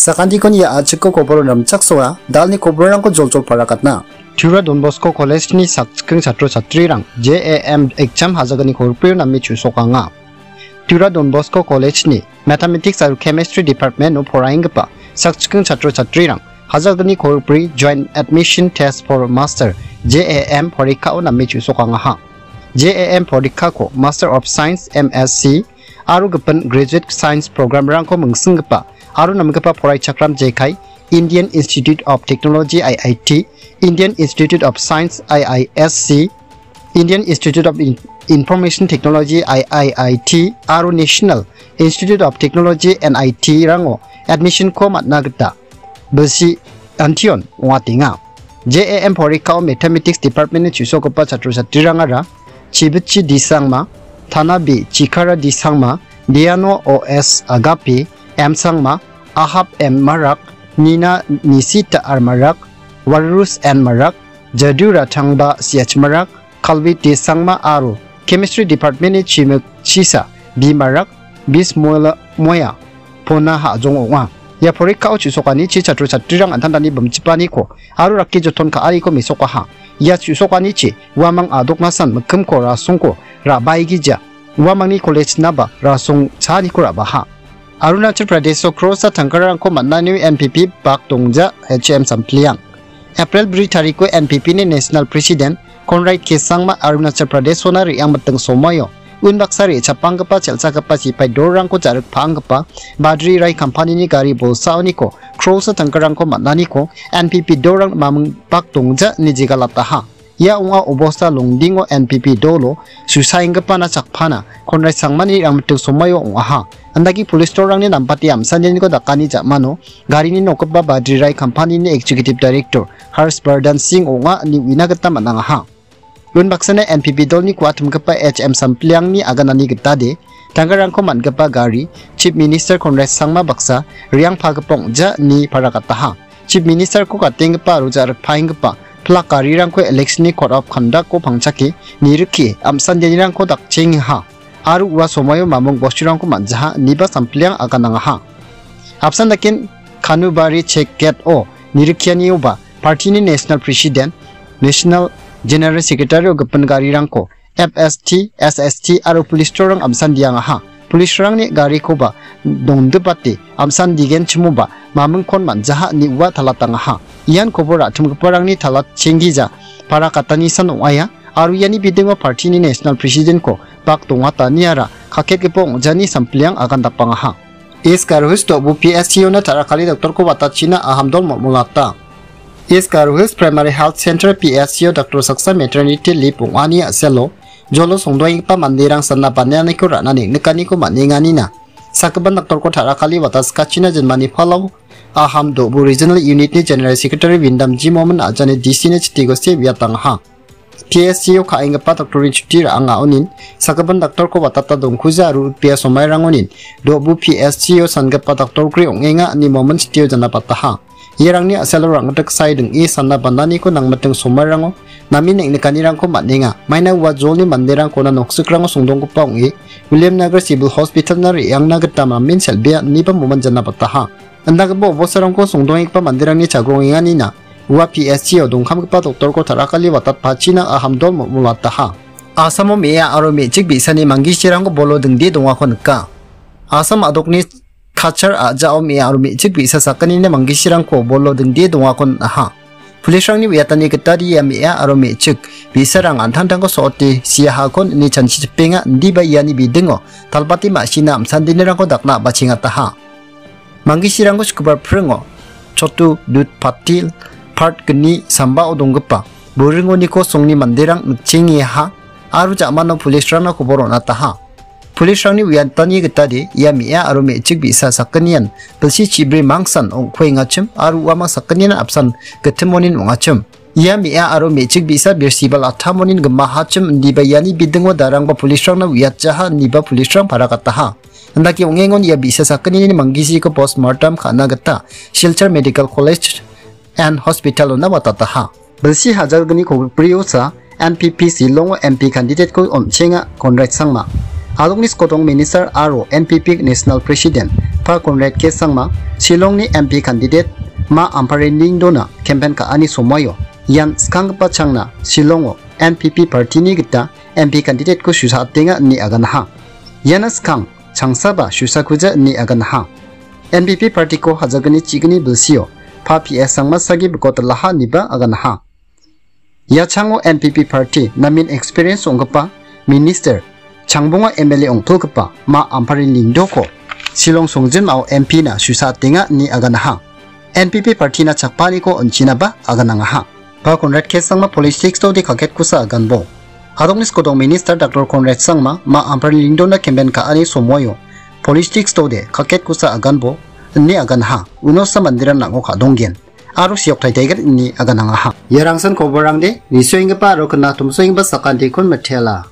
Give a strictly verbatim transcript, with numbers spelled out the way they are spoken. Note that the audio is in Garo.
Sakantikon ia a·chikko koboro namchaksoa, dalni koborrangko joljol parakatna. Tura Don Bosco College-ni sakchikring chatro chatrirang J A M exam hajalgni kolgrio name chu·sokanga. Tura Don Bosco College-ni Mathematics aro Chemistry Department-o poraienggipa sakchikring chatro chatrirang hajalgni kolgri Joint Admission Test for Master, J A M, porikkao name chu·sokangaha. J A M porikkako Master of Science, M S C, aro gipin Graduate Science program-rangko mingsinggipa aro namgipa poraichakram jekai Indian Institute of Technology, I I T, Indian Institute of Science, I I S C, Indian Institute of In-, Information Technology, I I I T, aro National Institute of Technology, N I T-rango admission-ko man·na gita bilsi antion ong·atenga. J A M porikkao Mathematics Department-ni chu·sokgipa chatro chatrirangara Chibichi D Sangma, Tanabe Chikara D Sangma, Diano O S Agape M Sangma, Ahab M Marak, Nina Nisita R Marak, Warus N Marak, Jadu Ratangba C H Marak, Kalvi T Sangma aro Chemistry Department-ni chimikchisa B Marak, Bismola Moya, Pona Hajong ong·a. Ia porikkao chu·sokanichi chatro chatrirang an·tangtangni bimchipaniko aro rakki joton ka·ariko mesokaha. Ia chu·sokanichi uamang adoknasan mikkimko rasongko ra·baegija. Uamangni college-naba rasong chaaniko ra·baha. Arunachal Pradesh-o Cross-a tangkarangko man·anio N P P bak dongja H M Sampliang. April bri tariko N P P-ni National President Conrad K Sangma Arunachal Pradesh-ona re·angmiting somoio unbaksa re·chapanggipa chelchakgipa sipai dorangko ja·rikpaenggipa Badri Rai kampanini gari bolsaoniko Cross-a tangkarangko man·aniko N P P dorang maming bak dongja ine jegalataha. Ia ong·a obosta Longdingo N P P dolo susaenggipana chakpana Conrad Sangmani re·angmiting somoio ong·aha. Andake police-rangni nampate amsaneniko dakani ja·mano garini nokgipa Badri Rai kampanini Executive Director Harsh Vardhan Singh ong·a ine uina gita man·angaha. Unbaksana N P P dolni kuatimgipa H M Sampliangni aganani gitade, tangkarangko man·gipa gari, Chief Minister Conrad Sangma baksa, re·angpagipa ong·ja ine parakataha. Chief Minister-ko gatenggipa aro ja·rikpaenggipa plak garirangko election-ni code of conduct-ko pangchake nirikki, amsandianirangko dakchengaha. Aro ua somoio mamung bosturangko man·jaha, ineba Sampliang aganangaha. Apsan daken Kanubari check gate-o nirikkianioba party-ni National President, National General Secretary-o gipin garirangko F S T, S S T aro police-rang amsandiangaha. Police-rangni garikoba dongdipate amsandigenchimoba mamingkon man·jaha ine ua talatangaha. Ian kobor ra·chimgiparangni talatchenggija parakatanisan ong·aia. Aro iani bidingo party-ni National President-ko bak dongataniara kaketgipa ong·jani Sampliang agandapangaha. East Garo Hills do·bo P S C O-na ta·rakali doktorko watachina ahamdol mol·molata. East Garo Hills Primary Health Center P S C O doktor saksa maternity leave ong·ani a·selo jolo songdoenggipa manderang sana banianiko ra·na neng·nikaniko man·enganina. Sagipan doktorko ta·rakali wataskachina jinmani palao Aham do·bo Regional Unit-ni General Secretary Windam G Momin ajani D C-ni chitiko se uiatangaha. P S C O ka·enggipa doktorni chuti ra·angaonin, sagipan doktorko watata dongkuja aro rikbea somairangonin, do·bo P S C O sangipa doktorgri ong·enga ine momen chitio janapataha. Iarangni a·selo rang·gittik sae ding·e sana bananiko nangmiting somairango namen neng·nikanirangko man·enga. Maina ua jolni manderangkona noksikrango songdonggipa ong·e, Williamnagar Civil Hospital-na re·angna gita namen sel·bea ineba momen janapataha. Indakgipa obostarangko songdoenggipa manderangni chagrongenganina ua P S C-o dongkamgipa doktorko ta·rakali watatpachina ahamdol mol·molataha. Asamo me·a aro me·chik bi·sani manggisirangko bolo dingde dongako nika. Asam a·dokni Kachar a·jao me·a aro me·chik bi·sa sakgnini manggisirangko bolo dingde dongako on·aha. Police-rangni uiatani gitade ia me·a aro me·chik bi·sarang an·tangtangko so·ote siahakon ine chanchichipenga indiba iani bidingo talbate ma·sina am·sandinirangko dakna a·bachengataha. Manggisirangko Sukubar pringo Chotu Dut Patil part gni sambao donggipa Boringoniko songni manderang nikchengeaha aro ja·mano police-rangna kobor on·ataha. Police-rangni uiatani gitade ia me·a aro me·chik bi·sa sakgnian bilsi chibri mangsan ong·kuengachim aro uamang sakgnian apsan gitimonin ong·achim. Ia me·a aro me·chik bi·sa birsi bal attamonin gimahachim indiba iani bidingo darangba police-rangna uiatjaha indiba police-rang paragataha. Indake ong·engon ia bi·sa sakgnini manggisiko postmortem ka·na gita Silchar Medical College and Hospital-ona watataha. Bilsi hajalgni kolgriosa N P P Shillongo M P candidate-ko on·chenga Conrad Sangma. Adokni skodong minister aro N P P National President Pa Conrad K Sangma Shillongni M P candidate Ma Ampareen Lyngdoh-na campaign ka·ani somoio ian skanggipa changna Shillongo N P P partyni gita M P candidate-ko susatenga ine aganaha. Iana skang changsaba susakuja ine aganaha. N P P partyko hajagni chigni bilsio Pa P S Sangma sagi bikotalaha ineba aganaha. Ia chango N P P party namen experience ong·gipa minister Changbonga M L A ong·tolgipa Ma Ampareen Lyngdoh-ko Shillong songjinmao M P-na susatenga ine aganaha. N P P partyna chakpaniko on·chinaba aganangaha. Pa Conrad K Sangma politics-ode kaketkosa aganbo. Adokni skodong minister Doctor Conrad Sangma Ma Ampareen Lyngdoh-na campaign ka·ani somoio politics-ode kaketkosa aganbo ine aganaha. Unosa manderan nang·o ka·donggen aro siok taitaigen ine aganangaha. Ia rangsan koborangde nisoenggipa aro kina tomsoenggipa sakantikon mitela.